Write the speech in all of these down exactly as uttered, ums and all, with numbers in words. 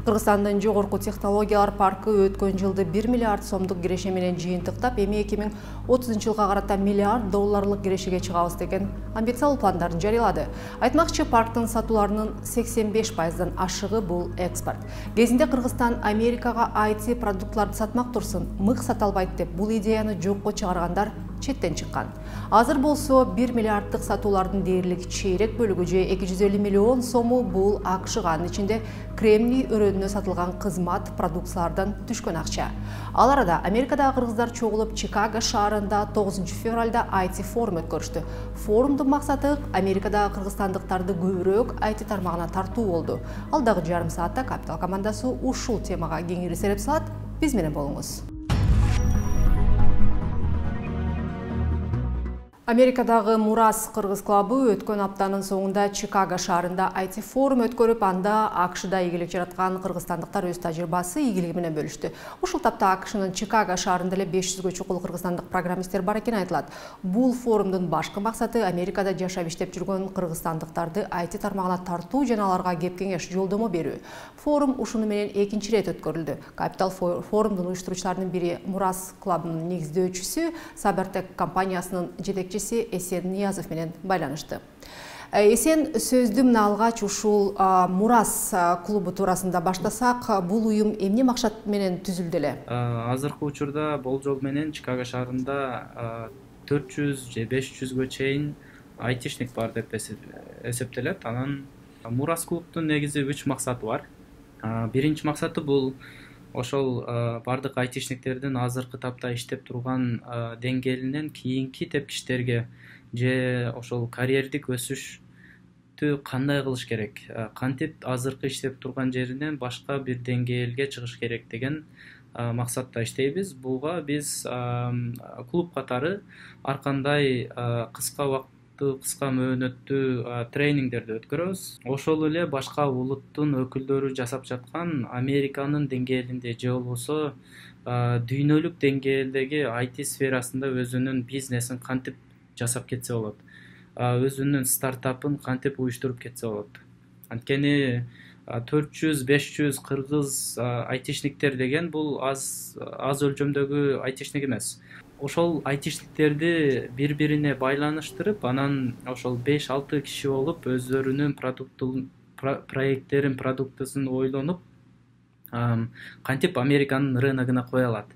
Кыргызстандын жогорку технологиялар паркы өткөн жылды бир миллиард сомдук киреше менен жыйынтыктап, эми эки миң отузунчу жылга карата миллиард долларлык кирешеге чыгабыз деген амбициялуу пландарын жарыялады. Айтмакчы, парктын сатууларынын сексен беш пайыздан ашыгы бул экспорт. Кезинде Кыргызстан Америкага ай ти продуктларды сатмак турсун, мык сата албайт деп бул идеяны жокко чыгаргандар четтен чыккан. Азыр болсо бир миллиарддык сатуулардын дээрлик чейрек бөлүгү же эки жүз элүү миллион сому бул акшга, анын ичинде кремний өрөөнүнө сатылган кызмат продукциялардан түшкөн акча. Ал арада Америкадагы кыргыздар чогулуп Чикаго шаарында тогузунчу февралда ай ти форум өткөрүштү. Форумдун максаты Америкадагы кыргызстандыктарды көбүрөөк ай ти тармагына тартуу болду. Алдагы жарым саатта Капитал командасы ушул темага кеңири сереп салат. Биз менен болуңуз. Америкадагы Мурас кыргыз клубу өткөн аптанын соңунда Чикаго шаарында ай ти форум өткөрүп, анда акшда ийгилик жараткан кыргызстандыктар өз тажрыйбасы, ийгилиги менен бөлүштү. Ушул тапта акшнын Чикаго шаарында эле беш жүзгө чукул кыргызстандык программисттер бар экени айтылат. Бул форумдун башкы максаты Америкада жашап иштеп жүргөн кыргызстандыктарды ай ти тармагына тартуу жана аларга кеп кеңеш, жолдомо берүү. Форум ушуну менен экинчи ирет өткөрүлдү. Капитал форумдун уюштуруучуларынын бири Мурас клубунун негиздөөчүсү Сабертек компаниясынын жетекчиси Эсен Ниязов менен байланышты. Эсен, сөздү мына алгач ушул Мурас клубу туурасында баштасак, бул уюм эмне максат менен түзүлдү эле? Азыркы учурда болжол менен Чикаго шаарында төрт жүз же беш жүзгө чейин айтишник бар деп эсептелет. Анан Мурас клубтун негизи үч максаты бар. Биринчи максаты бул ошол бардык айтишниктердин азыркы тапта иштеп турган деңгээлинен кийинки тепкичтерге же ошол карьердик өсүштү кандай кылыш керек, кантип азыркы иштеп турган жеринен башка бир деңгээлге чыгыш керек деген максатта иштейбиз. Буга биз клуб катары ар кандай кыска убакыт кыска мөөнөттүү тренингдерди өткөрөбүз. Ошол эле башка улуттун өкүлдөрү жасап жаткан Американын деңгээлинде же болбосо дүйнөлүк деңгээлдеги ай ти сферасында өзүнүн бизнесин кантип жасап кетсе болот, өзүнүн стартапын кантип уюштуруп кетсе болот. Анткени төрт жүз беш жүз кыргыз айтишниктер деген бул аз аз өлчөмдөгү айтишник эмес. Ошол айтишниктерди бири-бирине байланыштырып, анан ошол беш алты киши болуп өздөрүнүн продуктун проекттерин, продуктысын ойлонуп, кантип Американын рыногуна кое алат.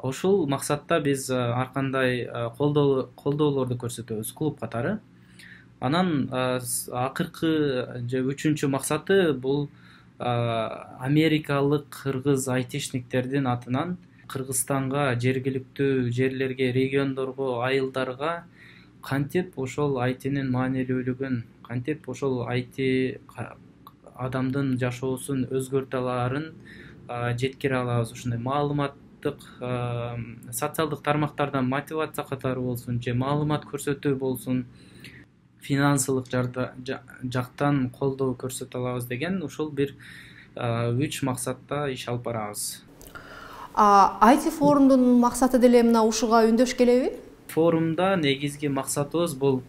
Ошол максатта биз ар кандай колдоолорду көрсөтөбүз клуб катары. Анан акыркы же үчүнчү максаты бул америкалык кыргыз айтишниктердин атынан Кыргызстанга, жергиликтүү жерлерге, региондорго, айылдарга кантип ошол ай тинин маанилүүлүгүн, кантип ошол ай ти адамдын жашоосун өзгөртө алаарын жеткире алабыз. Ушундай маалыматтык, социалдык тармактардан мотивация катары болсун, же маалымат көрсөтүү болсун, финансылык жактан колдоо көрсөтө алабыз деген ушул бир үч максатта иш алып барабыз. ай ти форумдун максаты деле мына ушуга үндөш келеби? Форумда негизги максатыбыз бул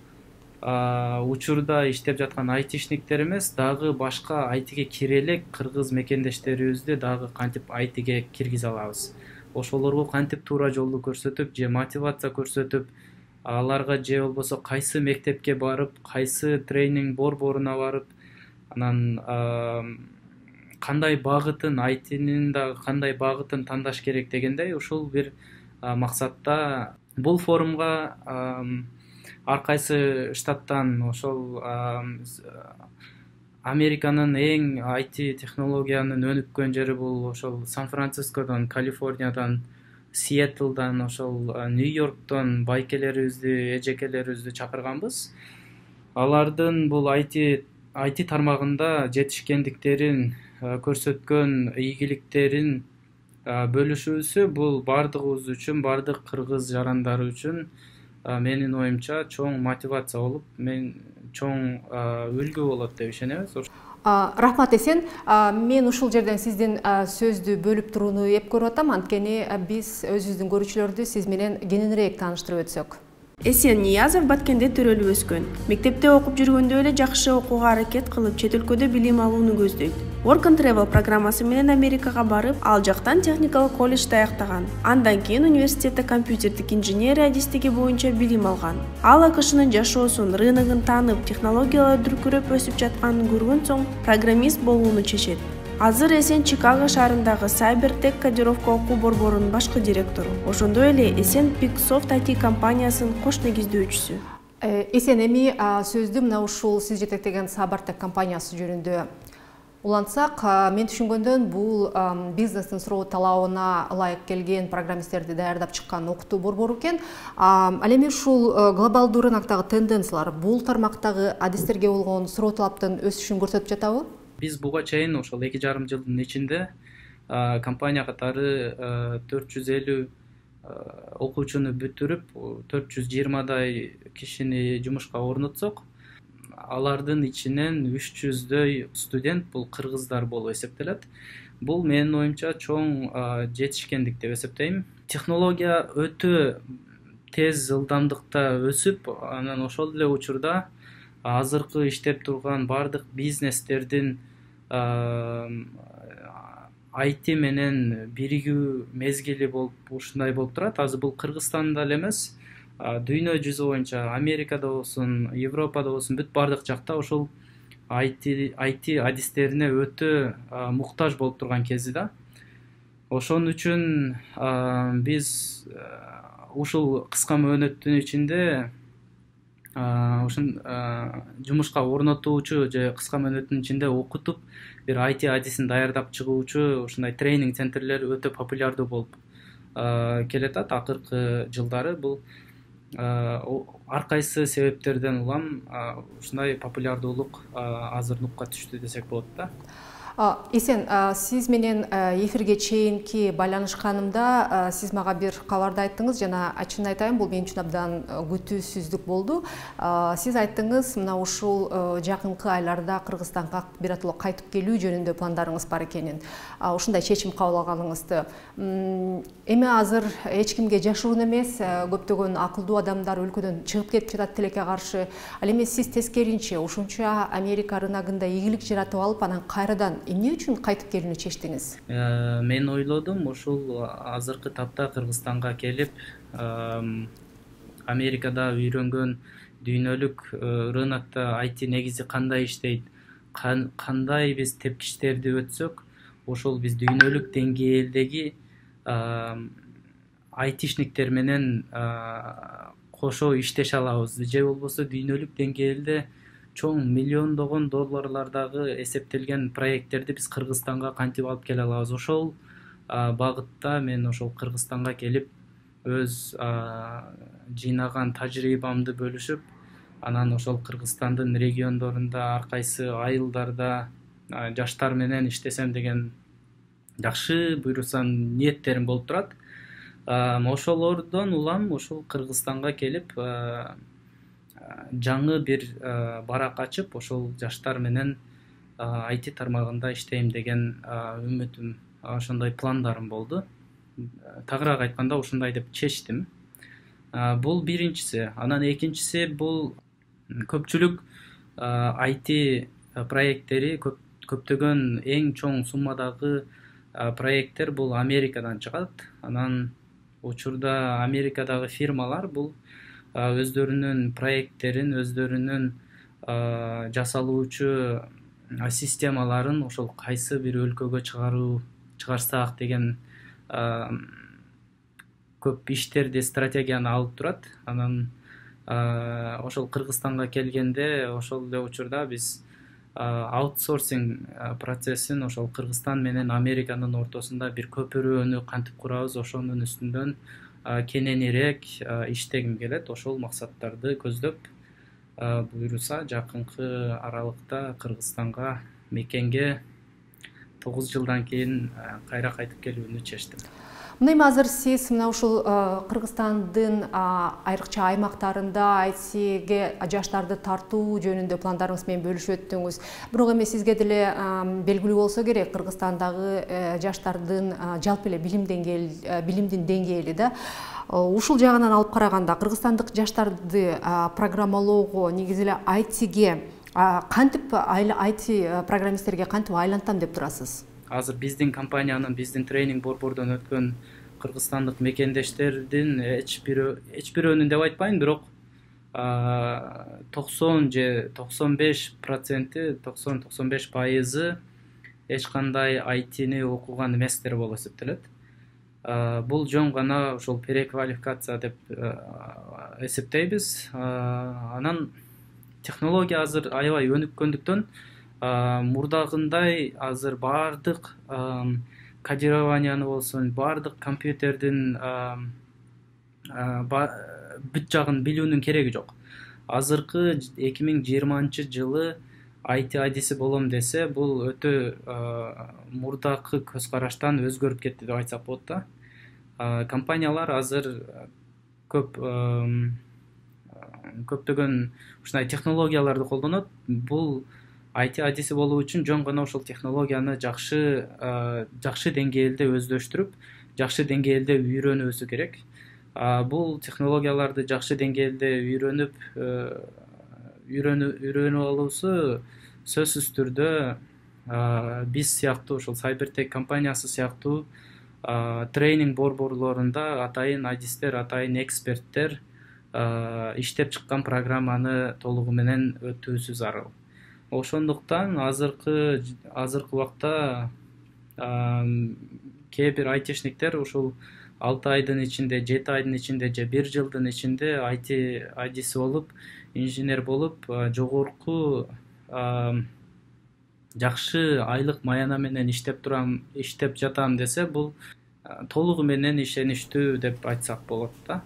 учурда иштеп жаткан айтишниктер эмес, дагы башка ай тиге кире элек кыргыз мекендештерибизди дагы кантип ай тиге киргизе алабыз. Ошолорго кантип туура жолду көрсөтүп, же мотивация көрсөтүп, аларга же болбосо кайсы мектепке барып, кайсы тренинг борборуна барып, анан кандай багытын, ай тинин дагы кандай багытын тандаш керек дегендей, ушул бир максатта бул форумга ар кайсы штаттан, ошол Американын эң ай ти технологиянын өнүккөн жери бул ошол Сан-Францискодон, Калифорниядан, Сиэтлдан, ошол Нью-Йорктон байкелерибизди, эжекелерибизди чакырганбыз. Алардын бул ай ти ай ти тармагында жетишкендиктерин көрсөткөн ийгиликтерин бөлүшүүсү бул бардыгыбыз үчүн, бардык кыргыз жарандары үчүн менин оюмча чоң мотивация болуп, мен чоң үлгү болот деп ишенебиз. Рахмат Эсен, мен ушул жерден сиздин сөздү бөлүп турууну эп көрүп атам, анткени биз өзүбүздүн көрүүчүлөрдү сиз менен кененирээк тааныштырып өтсөк. Эсен Ниязов Баткенде төрөлүп өскөн. Мектепте окуп жүргөндө эле жакшы окууга аракет кылып, чет өлкөдө билим алууну көздөйт. Work and Travel программасы менен Америкага барып, ал жактан техникалык колледжди аяктаган. Андан кийин университетте компьютердик инженерия адистиги боюнча билим алган. Ал АКШнын жашоосун, рыногун таанып, технологиялар дүркүрөп өсүп жатканын көргөн соң программист болууну чечет. Азыр Эсен Чикаго шаарындагы Cybertech кодировка окуу борборунун башкы директору. Ошондой эле Эсен Picsoft ай ти компаниясынын кош негиздөөчүсү. Эсен, эми сөздү мына ушул сиз жетектеген Cybertech компаниясы жөнүндө улантсак, мен түшүнгөндөн бул бизнестин суроо талабына ылайык келген программисттерди даярдап чыккан окутуу борбору экен. Ал эми ушул глобалдуу рыноктогу тенденциялар бул тармактагы адистерге болгон суроо талаптын өсүшүн көрсөтүп жатабы? Биз буга чейин ошол эки жарым жылдын ичинде компания катары төрт жүз элүү окуучуну бүтүрүп, төрт жүз жыйырмадай кишини жумушка орнотсок, алардын ичинен үч жүздөй студент бул кыргыздар болуп эсептелет. Бул менин оюмча чоң жетишкендик деп эсептейм. Технология өтө тез ылдамдыкта өсүп, анан ошол эле учурда азыркы иштеп турган бардык бизнестердин ай ти менен биригүү мезгили болуп ушундай болуп турат. Азыр бул Кыргызстанда эле эмес, дүйнө жүзү боюнча Америкада болсун, Европада болсун, бүт бардык жакта ошол ай ти адистерине өтө муктаж болуп турган кези да. Ошон үчүн биз ушул кыска мөөнөттүн ичинде ушун жумушка орнотуучу же кыска мөөнөттүн ичинде окутуп, бир ай ти адисин даярдап чыгуучу ушундай тренинг центрлер өтө популярдуу болуп келатат акыркы жылдары. Бул ар кайсы себептерден улам ушундай популярдуулук азыр нукка түштү десек болот да. Эсен, сиз менен эфирге чейинки байланышканымда сиз мага бир кабарды айттыңыз, жана чын айтайын, бул мен үчүн абдан күтүүсүздүк болду. Сиз айттыңыз, мына ушул жакынкы айларда Кыргызстанга биротоло кайтып келүү жөнүндө пландарыңыз бар экенин, ушундай чечим кабыл алганыңызды. Эми азыр эч кимге жашыруун эмес, көптөгөн акылдуу адамдар өлкөдөн чыгып кетип жатат тилекке каршы. Ал эми сиз тескеринче ушунча Америка рыногунда ийгилик жаратып алып, анан кайрадан эмне үчүн кайтып келүүнү чечтиңиз? Мен ойлодум, ушул азыркы тапта Кыргызстанга келип, Америкада үйрөнгөн дүйнөлүк рынокто ай ти негизи кандай иштейт, кандай биз тепкичтерди өтсөк, ошол биз дүйнөлүк деңгээлдеги айтишниктер менен кошо иштеше алабыз, же болбосо дүйнөлүк деңгээлде чоң миллиондогон долларлардагы эсептелген проекттерди биз Кыргызстанга кантип алып келе алабыз. Ошол багытта мен ошол Кыргызстанга келип, өз жыйнаган тажрыйбамды бөлүшүп, анан ошол Кыргызстандын региондорунда ар кайсы айылдарда жаштар менен иштесем деген жакшы буйрусам ниеттерим болуп турат. Ошолордон улам ошол Кыргызстанга келип, жаңы бир барак ачып, ошол жаштар менен ай ти тармагында иштейм деген үмүтүм, ошондой пландарым болду. Тагыраак айтканда ушундай деп чечтим. Бул биринчиси. Анан экинчиси, бул көпчүлүк ай ти проекттери, көптөгөн эң чоң суммадагы проекттер бул Америкадан чыгат. Анан учурда Америкадагы фирмалар бул өздөрүнүн проекттерин, өздөрүнүн жасалуучу системаларын ошол кайсы бир өлкөгө чыгаруу чыгарсак деген көп иштерди, стратегияны алып турат. Анан ошол Кыргызстанга келгенде, ошол эле учурда биз аутсорсинг процессин ошол Кыргызстан менен Американын ортосунда бир көпүрөнү кантип курабыз, ошонун үстүндөн кененирээк иштегим келет. Ошол максаттарды көздөп, буйруса жакынкы аралыкта Кыргызстанга мекенге тогуз жылдан кийин кайра кайтып келүүнү чечтим. Мына эми азыр сиз мына ушул Кыргызстандын айрыкча аймактарында ай тиге жаштарды тартуу жөнүндө пландарыңыз менен бөлүшүп өттүңүз. Бирок эми сизге деле белгилүү болсо керек, Кыргызстандагы жаштардын жалпы эле билим деңгээли, билимдин деңгээли да. Ушул жагынан алып караганда Кыргызстандык жаштарды программалоого, негизи эле ай тиге Кантип ай ти программисттерге кантип айлантам деп турасыз? Азыр биздин компаниянын, биздин тренинг борбордон өткөн кыргызстандык мекендештердин эч бирөө эч бирөөнүн деп айтпайм, бирок токсон же токсон беш проценти, токсон токсон беш пайызы эч кандай ай тини окуган эместер болуп эсептелет. Бул жөн гана ошол переквалификация деп эсептейбиз. Анан технология азыр аябай өнүккөндүктөн мурдагындай азыр баардык кодированияны болсун, баардык компьютердин бүт жагын билүүнүн кереги жок. Азыркы эки миң жыйырманчы жылы ай ти адиси болом десе, бул өтө мурдакы көз караштан өзгөрүп кетти деп айтсак болот да. Компаниялар азыр көп көптөгөн ушундай технологияларды колдонот. Бул ай ти адиси болуу үчүн жөн гана ошол технологияны жакшы жакшы деңгээлде өздөштүрүп, жакшы деңгээлде үйрөнүүсү керек. Бул технологияларды жакшы деңгээлде үйрөнүп үйрөнүп алуусу сөзсүз түрдө биз сыяктуу, ошол Cybertech компаниясы сыяктуу тренинг борборлорунда атайын адистер, атайын эксперттер иштеп чыккан программаны толугу менен өтүүсү зарыл. Ошондуктан азыркы азыркы убакта кээ бир айтишниктер ушул алты айдын ичинде, жети айдын ичинде же бир жылдын ичинде ай ти адиси болуп, инженер болуп, жогорку жакшы айлык маяна менен иштеп турам, иштеп жатам десе, бул толугу менен ишеничтүү деп айтсак болот да.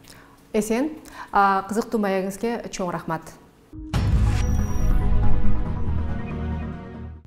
Эсен, кызыктуу маегиңизге чоң рахмат.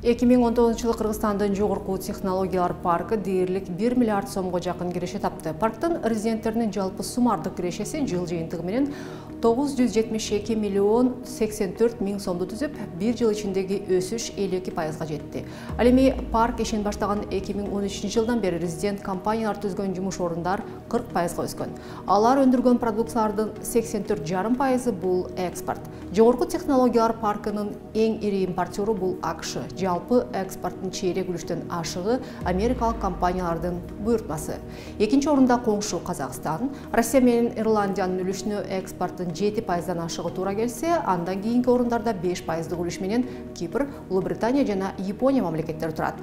эки миң он тогузунчу жылы Кыргызстандын жогорку технологиялар паркы дээрлик бир миллиард сомго жакын киреше тапты. Парктын резиденттеринин жалпы суммардык кирешеси жыл жыйынтыгы менен тогуз жүз жетимиш эки миллион сексен төрт миң сомду түзүп, бир жыл ичиндеги өсүш элүү эки пайызга жетти. Ал эми парк ишин баштаган эки миң он үчүнчү жылдан бери резидент компаниялар түзгөн жумуш орундар кырк пайызга өскөн. Алар өндүргөн продукциялардын сексен төрт жарым пайызы бул экспорт. Жогорку технологиялар паркынын эң ири импортеру бул АКШ. Жалпы экспорттун чейрек үлүштөн ашыгы америкалык компаниялардын буйртмасы. Экинчи орунда коңшу Казакстан, Россия менен Ирландиянын үлүшүнө экспорттун жети пайыздан ашыгы туура келсе, андан кийинки орундарда беш пайыздык үлүш менен Кипр, Улуу Британия жана Япония мамлекеттери турат.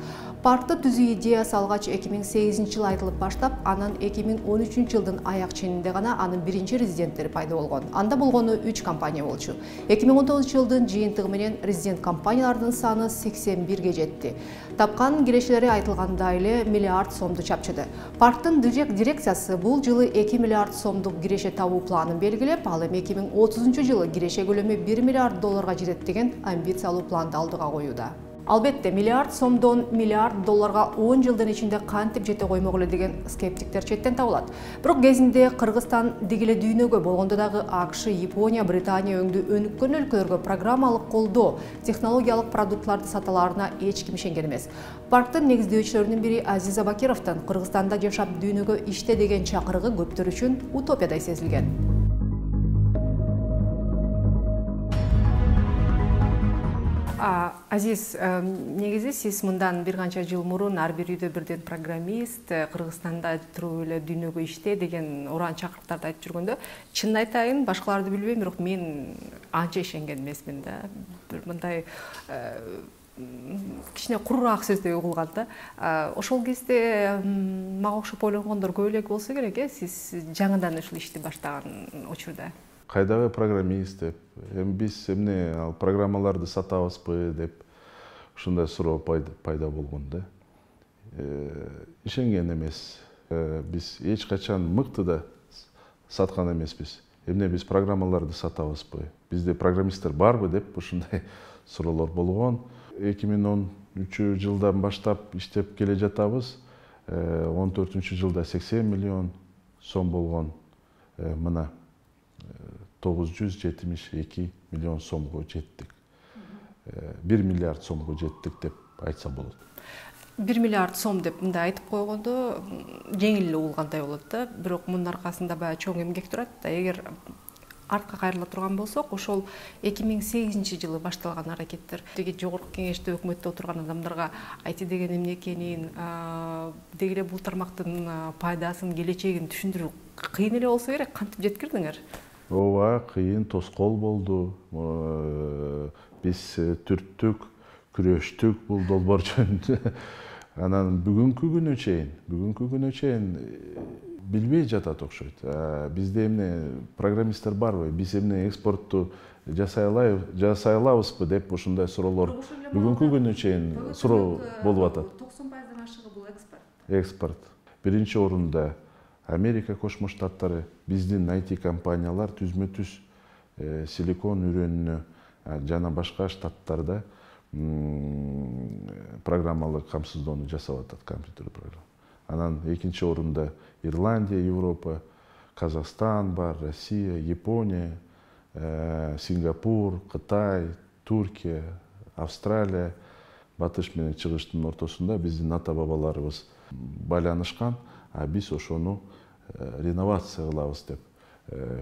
Паркты түзүү идеясы алгач эки миң сегизинчи жылы айтылып баштап, анан эки миң он үчүнчү жылдын аяк ченинде гана анын биринчи резиденттери пайда болгон. Анда болгону үч компания болчу. эки миң он тогузунчу жылдын жыйынтыгы менен резидент компаниялардын саны сексен бирге жетти. Тапкан кирешелери айтылгандай эле миллиард сомду чапчыды. Парктын дирекциясы бул жылы эки миллиард сомдук киреше табуу планын белгилеп, ал эми эки миң отузунчу жылы киреше көлөмү бир миллиард долларга жетет деген амбициялуу планды алдыга коюуда. Албетте, миллиард сомдон миллиард долларга он жылдын ичинде кантип жете коймок эле деген скептиктер четтен табылат. Бирок кезинде Кыргызстан дегеле дүйнөгө болгондо дагы АКШ, Япония, Британия өңдүү өнүккөн өлкөлөргө программалык колдоо, технологиялык продуктларды саталарына эч ким ишенген эмес. Парктын негиздөөчүлөрүнүн бири Азиз Абакировдун Кыргызстанда жашап дүйнөгө иште деген чакырыгы көптөр үчүн утопиядай сезилген. Азиз, негизи сиз мындан бир канча жыл мурун ар бир үйдө бирден программист, Кыргызстанда туруп эле дүйнөгө иште деген уран чакырыктарды айтып жүргөндө, чынын айтайын, башкаларды билбейм, бирок мен анча ишенген эмесмин да. Бир мындай кичине куруураак сөздөй угулган да. Ошол кезде мага окшоп ойлонгондор көп эле болсо керек, э, сиз жаңыдан ушул ишти баштаган учурда. Кайдагы программист деп, эми биз эмне ал программаларды сатабызбы деп ушундай суроо пайда болгон да. Ишенген эмес. Биз эч качан мыкты да саткан эмеспиз. Эмне биз программаларды сатабызбы? Бизде программисттер барбы деп ушундай суроолор болгон. эки миң он үчүнчү жылдан баштап иштеп келе жатабыз. он төртүнчү жылда сексен миллион сом болгон. Мына тогуз жүз жетимиш эки миллион сомго жеттик. бир миллиард сомго жеттик деп айтса болот. бир миллиард сом деп мындай айтып койгондо жеңил эле угулгандай болот да. Бирок мунун аркасында баягы чоң эмгек турат да. Эгер артка кайрыла турган болсок, ошол эки миң сегизинчи жылы башталган аракеттер. Деги жогорку кеңеште өкмөттө отурган адамдарга ай ти деген эмне экенин, деги эле бул тармактын пайдасын, келечегин түшүндүрүү кыйын эле болсо керек. Кантип жеткирдиңер? Ооба, кыйын, тоскоол болду. Биз түрттүк, күрөштүк бул долбоор жөнүндө. Анан бүгүнкү күнү чейин, бүгүнкү күнү чейин билбей жатат окшойт. Бизде эмне программисттер барбы? Биз эмне экспортту жасай алабызбы деп ушундай суроолор бүгүнкү күнү чейин суроо болуп атат. токсон пайыздан ашыгы бул экспорт. Экспорт. Биринчи орунда Америка Кошмо Штаттары, биздин ай ти компаниялар түзмө-түз Силикон үрөнүнө жана башка штаттарда программалык камсыздоону жасап атат, компьютер программа. Анан экинчи орунда Ирландия, Европа, Казакстан бар, Россия, Япония, Сингапур, Кытай, Туркия, Австралия, батыш менен чыгыштын ортосунда биздин ата бабаларыбыз байланышкан, а биз ошону реновация кылабыз деп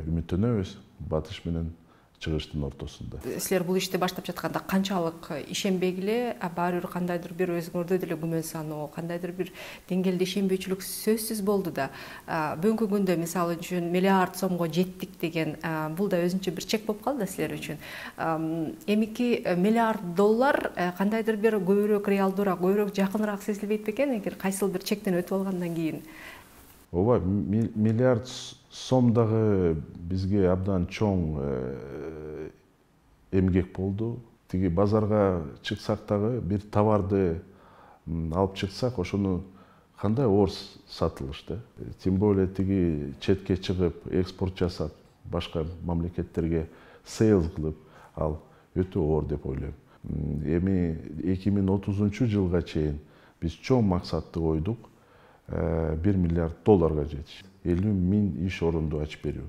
үмүттөнөбүз батыш менен чыгыштын ортосунда. Силер бул ишти баштап жатканда канчалык ишенбегиле, баары бир кандайдыр бир өзүңөрдө деле күмөн саноо, кандайдыр бир деңгээлде ишенбөөчүлүк сөзсүз болду да. Бүгүнкү күндө мисалы үчүн миллиард сомго жеттик деген бул да өзүнчө бир чек болуп калды силер үчүн. Эмики миллиард доллар кандайдыр бир көбүрөөк реалдуураак, көбүрөөк жакыныраак сезилбейт бекен эгер кайсыл бир чектен өтүп алгандан кийин? Ооба, миллиард сом дагы бизге абдан чоң эмгек болду. Тиги базарга чыксак дагы бир товарды алып чыксак, ошону кандай оор сатылыш да. Тем более тиги четке чыгып, экспорт жасап, башка мамлекеттерге сейлс кылып, ал өтө оор деп ойлойм. Эми эки миң отузунчу жылга чейин биз чоң максатты койдук. бир миллиард долларга жетиш. элүү миң иш орунду ачып берүү.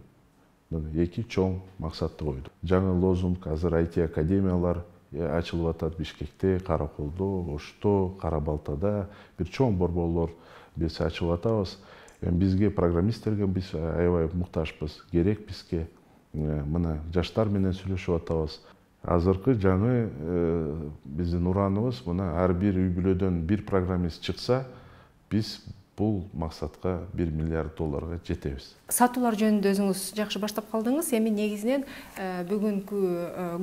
Эки чоң максатты койдук. Жаңы лозунг азыр ай ти академиялар ачылып атат Бишкекте, Караколдо, Ошто, Кара Балтада, бир чоң борборлор биз ачып атабыз. Бизге программисттерге биз аябай муктажбыз, керек бизге. Мына жаштар менен сүйлөшүп атабыз. Азыркы жаңы биздин ураныбыз, мына ар бир үй бүлөдөн бир программист чыкса, биз бул максатка бир миллиард долларга жетебиз. Сатуулар жөнүндө өзүңүз жакшы баштап калдыңыз. Эми негизинен бүгүнкү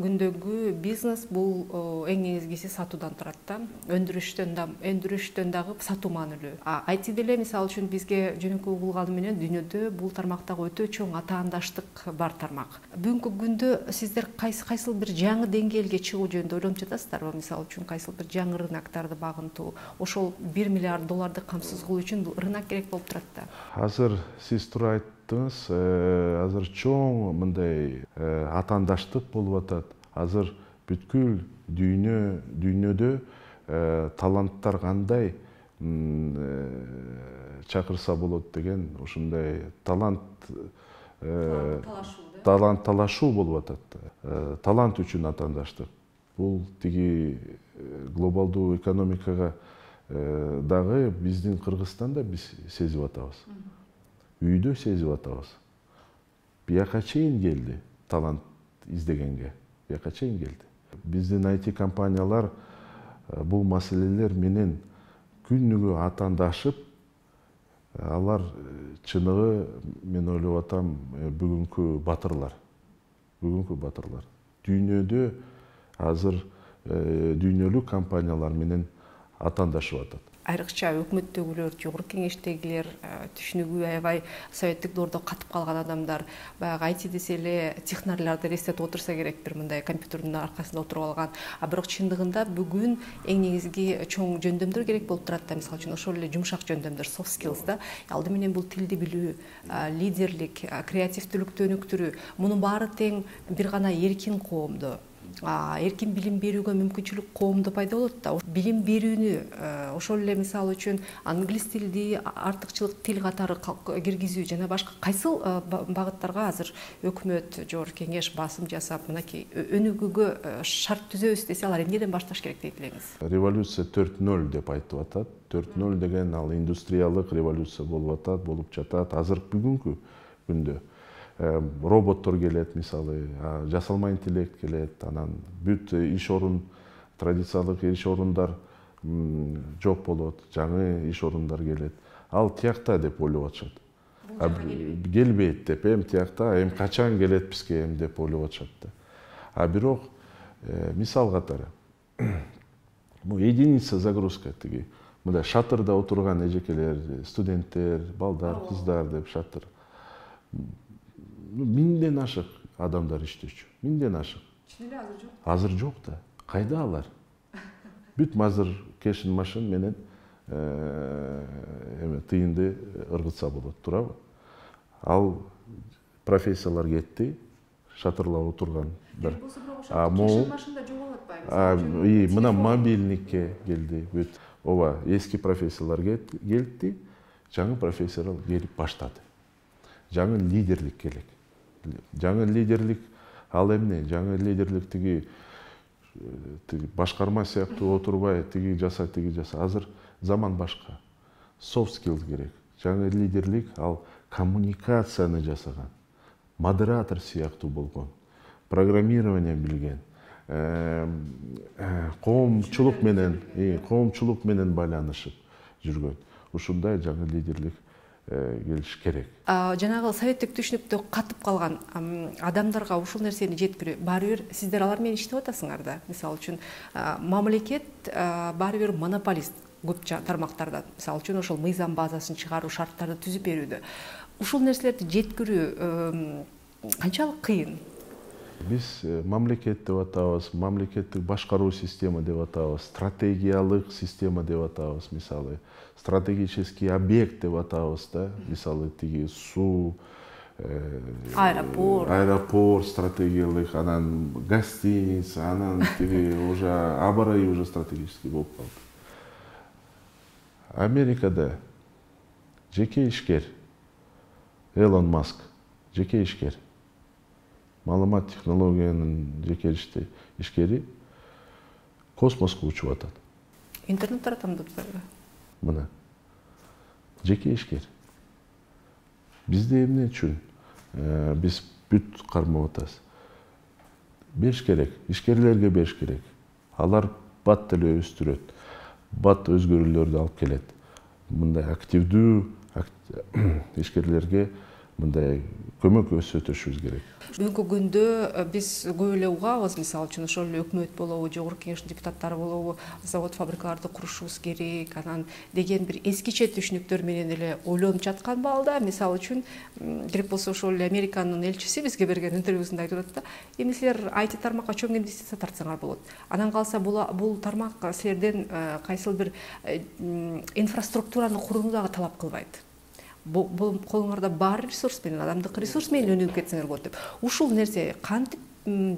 күндөгү бизнес бул эң негизгиси сатуудан турат да. Өндүрүштөн да, өндүрүштөн дагы сатуу маанилүү. ай ти деле мисалы үчүн бизге жөнөкөй угулганы менен дүйнөдө бул тармактагы өтө чоң атаандаштык бар тармак. Бүгүнкү күндө сиздер кайсы кайсыл бир жаңы деңгээлге чыгуу жөнүндө ойлонуп жатасыздарбы? Мисалы үчүн кайсыл бир жаңы рыноктарды багынтуу, ошол бир миллиард долларды камсыз кылуу үчүн рынок керек болуп турат да. Азыр сиз туура айттыңыз, азыр чоң мындай атаандаштык болуп атат. Азыр бүткүл дүйнө дүйнөдө таланттар кандай чакырса болот деген ушундай талант талант талашуу болуп атат. Талант үчүн атаандаштык. Бул тиги глобалдуу экономикага дагы биздин Кыргызстанда биз сезип атабыз. Үйдө сезип атабыз. Бияка чейин келди талант издегенге. Бияка чейин келди. Биздин ай ти компаниялар бул маселелер менен күнүгө атаандашып, алар чыныгы мен ойлоп атам бүгүнкү батырлар. Бүгүнкү батырлар. Дүйнөдө азыр дүйнөлүк компаниялар менен атаандашып атат. Айрыкча өкмөттөгүлөр, жогорку кеңештегилер, түшүнүгү аябай советтик доордо катып калган адамдар, баягы ай ти десе эле технарларды элестетип отурса керек, бир мындай компьютердин аркасында отуруп алган. А бирок чындыгында бүгүн эң негизги чоң жөндөмдөр керек болуп турат да, мисалы үчүн ошол эле жумшак жөндөмдөр, soft skills да. Алды менен бул тилди билүү, лидерлик, креативдүүлүктү өнүктүрүү. Мунун баары тең бир гана эркин коомдо, эркин билим берүүгө мүмкүнчүлүк коомдо пайда болот да. Билим берүүнү ошол эле мисалы үчүн англис тилди артыкчылык тил катары киргизүү жана башка кайсыл багыттарга азыр өкмөт, жогорку кеңеш басым жасап, мынакей өнүгүүгө шарт түзөбүз десе, алар эмнеден башташ керек дейт элеңиз? Революция төрт ноль деп айтып атат. төрт ноль деген ал индустриялык революция болуп атат, болуп жатат азыр бүгүнкү күндө. роботтор келет, мисалы жасалма интеллект келет, анан бүт иш орун, традициялык иш орундар жок болот, жаңы иш орундар келет. Ал тиякта деп ойлоп атышат. Келбейт деп, эми тиякта, эми качан келет бизге эми деп ойлоп атышат да. А бирок мисал катары единица загрузка тиги мындай шатырда отурган эжекелер, студенттер, балдар, кыздар деп шатыр. Миңден ашык адамдар иштечү. Миңден ашык. Чынында азыр жок. Азыр жок да. Кайда алар? Бүт мазыр кешин машин менен эме тыйынды ыргытса болот, туурабы? Ал профессиялар кетти, шатырлар отургандар. А могу машинда жок атпайбы? И мына мобильникке келди бүт. Ооба, эски профессиялар келди, жаңы профессиялар келип баштады. Жаңы лидерлик керек. Жаңы лидерлик ал эмне? Жаңы лидерлик тиги башкарма сыяктуу отурбай, тиги жаса, тиги жаса. Азыр заман башка. Soft skills керек. Жаңы лидерлик ал коммуникацияны жасаган, модератор сыяктуу болгон, программирование билген, коомчулук менен, коомчулук менен байланышып жүргөн. Ушундай жаңы лидерлик келиш керек. Жанагы советтик түшүнүктө катып калган адамдарга ушул нерсени жеткирүү, баары бир сиздер алар менен иштеп атасыңар да. Мисалы үчүн мамлекет баары бир монополист көп тармактарда. Мисалы үчүн ошол мыйзам базасын чыгаруу, шарттарды түзүп берүүдө. Ушул нерселерди жеткирүү канчалык кыйын? Биз мамлекет деп атабыз, мамлекеттик башкаруу система деп атабыз, стратегиялык система деп атабыз, мисалы, стратегический объект деп атабыз да, мисалы, тиги суу, аэропорт, аэропорт стратегиялык, анан гостиница, анан тиги уже абарай уже стратегический болуп калды. Америкада жеке ишкер, Элон Маск, жеке ишкер, маалымат технологиянын жеке ишкери космоско учуп атат. Интернет таратам деп атпайбы? Мына жеке ишкер. Бизде эмне үчүн биз бүт кармап атабыз? Бериш керек, ишкерлерге бериш керек. Алар бат деле өстүрөт, бат өзгөрүүлөрдү алып келет. Мындай активдүү ишкерлерге мындай көмөк көрсөтүшүбүз керек. Бүгүнкү күндө биз көп эле угабыз, мисалы үчүн ошол эле өкмөт болобу, жогорку кеңештин депутаттары болобу, завод фабрикаларды курушубуз керек, анан деген бир эскиче түшүнүктөр менен эле ойлонуп жаткан балда. Мисалы үчүн керек болсо ошол эле Американын элчиси бизге берген интервьюсунда айтып атат да, эми силер ай ти тармакка чоң инвестиция тартсаңар болот. Анан калса бул тармак силерден кайсыл бир инфраструктураны курууну дагы талап кылбайт. Бул колуңарда бар ресурс менен, адамдык ресурс менен өнүгүп кетсеңер болот деп. Ушул нерсе кантип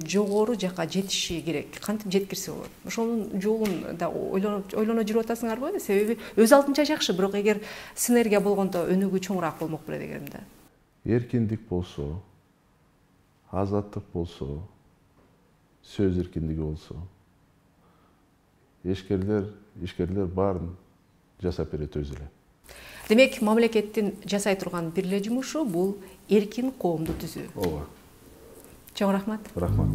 жогору жака жетиши керек, кантип жеткирсе болот? Ошонун жолун да ойлоно жүрүп атасыңарбы? Себеби өз алдынча жакшы, бирок эгер синергия болгондо өнүгүү чоңураак болмок беле дегем да. Эркиндик болсо, азаттык болсо, сөз эркиндиги болсо, ишкерлер, ишкерлер баарын жасап берет өзү эле. Демек, мамлекеттин жасай турган бир эле жумушу бул эркин коомду түзүү. Ооба. Чоң рахмат. Рахмат.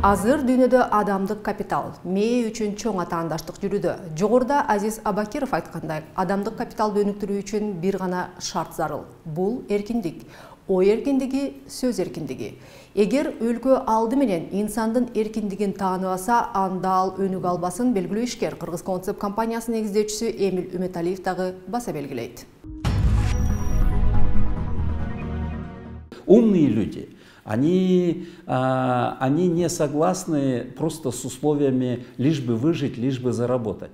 Азыр дүйнөдө адамдык капитал мээ үчүн чоң атаандаштык жүрүүдө. Жогоруда Азиз Абакиров айткандай, адамдык капиталды өнүктүрүү үчүн бир гана шарт зарыл. Бул эркиндик. Ой эркиндиги, сөз эркиндиги. Эгер өлкө алды менен инсандын эркиндигин тааныбаса, анда ал өнүгө албасын белгилүү ишкер Кыргыз Концепт компаниясынын негиздөөчүсү Эмил Үмөталиев дагы баса белгилейт. Умные люди, они, а, они не согласны просто с условиями лишь бы выжить, лишь бы заработать.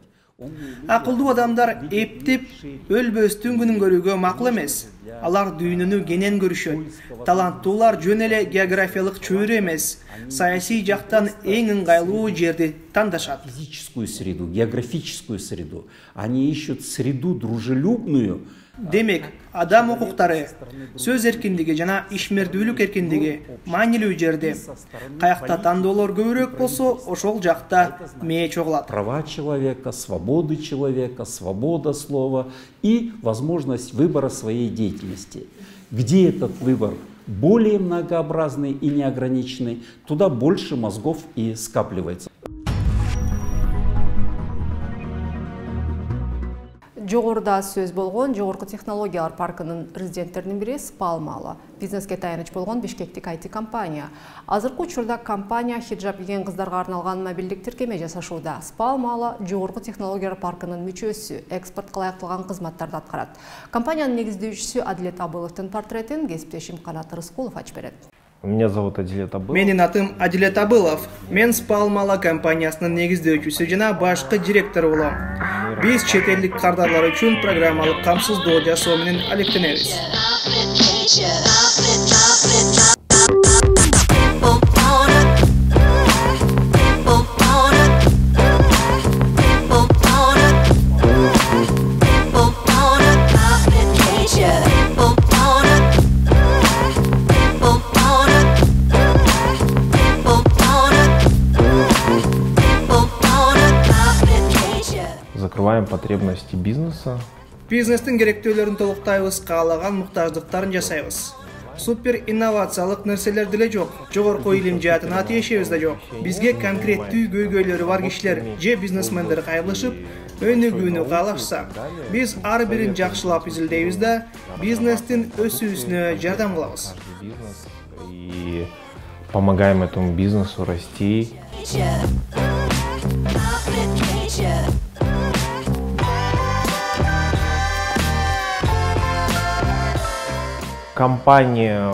Акылдуу адамдар эптеп өлбөстүн күнүн көрүүгө макул эмес. Алар дүйнөнү кенен көрүшөт. Таланттуулар жөн эле географиялык чөйрө эмес. саясий жактан эң ыңгайлуу жерди тандашат. Физическую среду, географическую среду. Они ищут среду дружелюбную. Демек, адам укуктары, сөз эркиндиги жана ишмердүүлүк эркиндиги маанилүү жерде. Каякта тандоолор көбүрөөк болсо, ошол жакта мээ чогулат. Права человека, свободы человека, свобода слова и возможность выбора своей деятельности. Где этот выбор более многообразный и неограниченный, туда больше мозгов и скапливается. Жогоруда сөз болгон Жогорку технологиялар паркынын резиденттеринин бири Спалмала. Бизнеске таяныч болгон бишкектик ай ти компания. Азыркы учурда компания хиджаб кийген кыздарга арналган мобилдик тиркеме жасашууда. Спалмала Жогорку технологиялар паркынын мүчөсү, экспортко ылайыкталган кызматтарды аткарат. Компаниянын негиздөөчүсү Адилет Абыловдун портретин кесиптешим Канат Рыскулов ачып берет. Меня зовут Адилет Абылов. Менин атым Адилет Абылов. Мен Спалмала компаниясынын негиздөөчүсү жана башкы директору болом. Биз чет элдик кардарлар үчүн программалык камсыздоо жасоо менен алектенебиз. Закрываем потребности бизнеса. Бизнестин керектөөлөрүн толуктайбыз, каалаган муктаждыктарын жасайбыз. Супер инновациялык нерселер деле жок. Жогорку илим жаатына тиешебиз да жок. Бизге конкреттүү көйгөйлөрү бар кишилер же бизнесмендер кайрылышып, өнүгүүнү каалашса, биз ар бирин жакшылап изилдейбиз да бизнестин өсүүсүнө жардам кылабыз. И помогаем этому бизнесу расти. Компания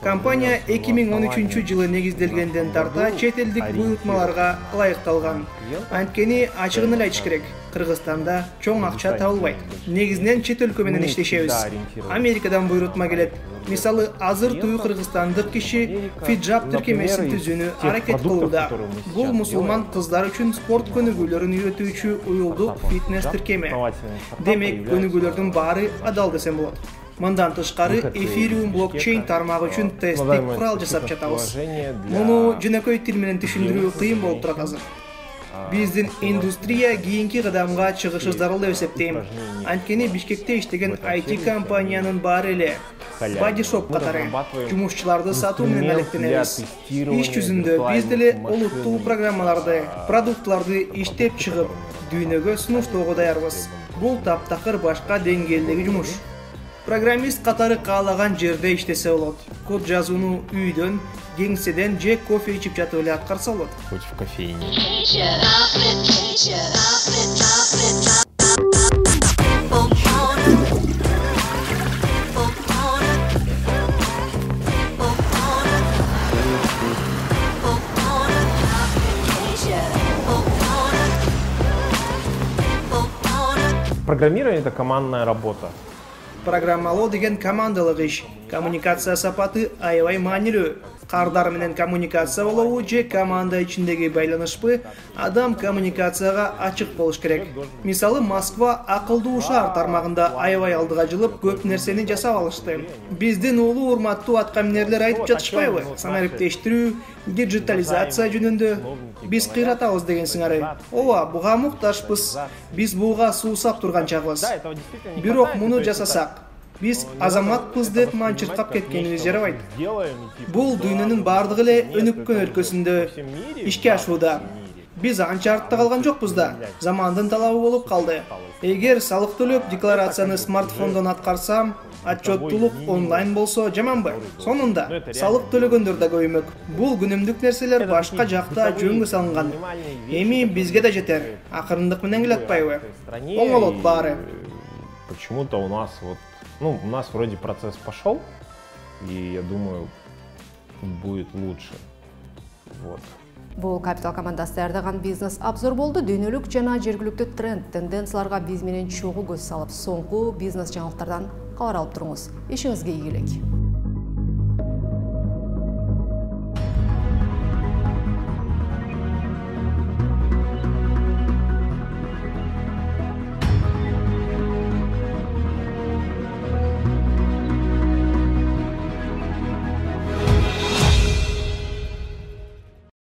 Компания эки миң он үчүнчү жылы негизделгенден тарта чет элдик буйрутмаларга ылайыкталган. Анткени ачыгын эле айтыш керек, Кыргызстанда чоң акча табылбайт. Негизинен чет өлкө менен иштешебиз. Америкадан буйрутма келет. Мисалы, азыр туу кыргызстандык киши хиджаб тиркемесин түзүүнү аракет кылууда. Бул мусулман кыздар үчүн спорт көнүгүүлөрүн үйрөтүүчү уюлдук фитнес тиркеме. Демек, көнүгүүлөрдүн баары адал десем болот. Мындан тышкары Ethereum блокчейн тармагы үчүн тесттик курал жасап жатабыз. Муну жөнөкөй тил менен түшүндүрүү кыйын болуп турат азыр. Биздин индустрия кийинки кадамга чыгышы зарыл деп эсептейм. Анткени Бишкекте иштеген ай ти компаниянын баары эле бодишоп катары жумушчуларды сатуу менен алектенебиз. Иш жүзүндө биз деле олуттуу программаларды, продуктларды иштеп чыгып, дүйнөгө сунуштоого даярбыз. Бул таптакыр башка деңгээлдеги жумуш. Программист катары каалаган жерде иштесе болот. Код жазууну үйдөн, кеңседен же кофе ичип жатып эле аткарса болот. хоть в кофейне. Программирование — это командная работа. Программалоо деген командалык иш. Коммуникация сапаты аябай маанилүү. Кардар менен коммуникация болобу же команда ичиндеги байланышпы, адам коммуникацияга ачык болуш керек. Мисалы, Москва акылдуу шаар тармагында аябай алдыга жылып көп нерсени жасап алышты. Биздин улуу урматтуу аткаминерлер айтып жатышпайбы? Санариптештирүү, диджитализация жөнүндө биз кыйратабыз деген сыңары. Ооба, буга муктажбыз. Биз буга суусап турган чагыбыз. Бирок муну жасасак, биз азаматпыз деп манчыркап кеткенибиз жарабайт. Бул дүйнөнүн бардыгы эле өнүккөн өлкөсүндө ишке ашууда. Биз анча артта калган жокпуз да. Замандын талабы болуп калды. Эгер салык төлөп декларацияны смартфондон аткарсам, отчеттуулук онлайн болсо жаманбы? Сонунда салык төлөгөндөр да көбөймөк. Бул күнүмдүк нерселер башка жакта жөнгө салынган. Эми бизге да жетер. Акырындык менен келе атпайбы? Оңолот баары. Почему-то у нас вот, ну, у нас вроде процесс пошел, и я думаю, будет лучше. Вот. Бул Капитал командасы даярдаган бизнес обзор болду. Дүйнөлүк жана жергиликтүү тренд, тенденцияларга биз менен чогуу көз салып, соңку бизнес жаңылыктардан кабар алып туруңуз. Ишиңизге ийгилик.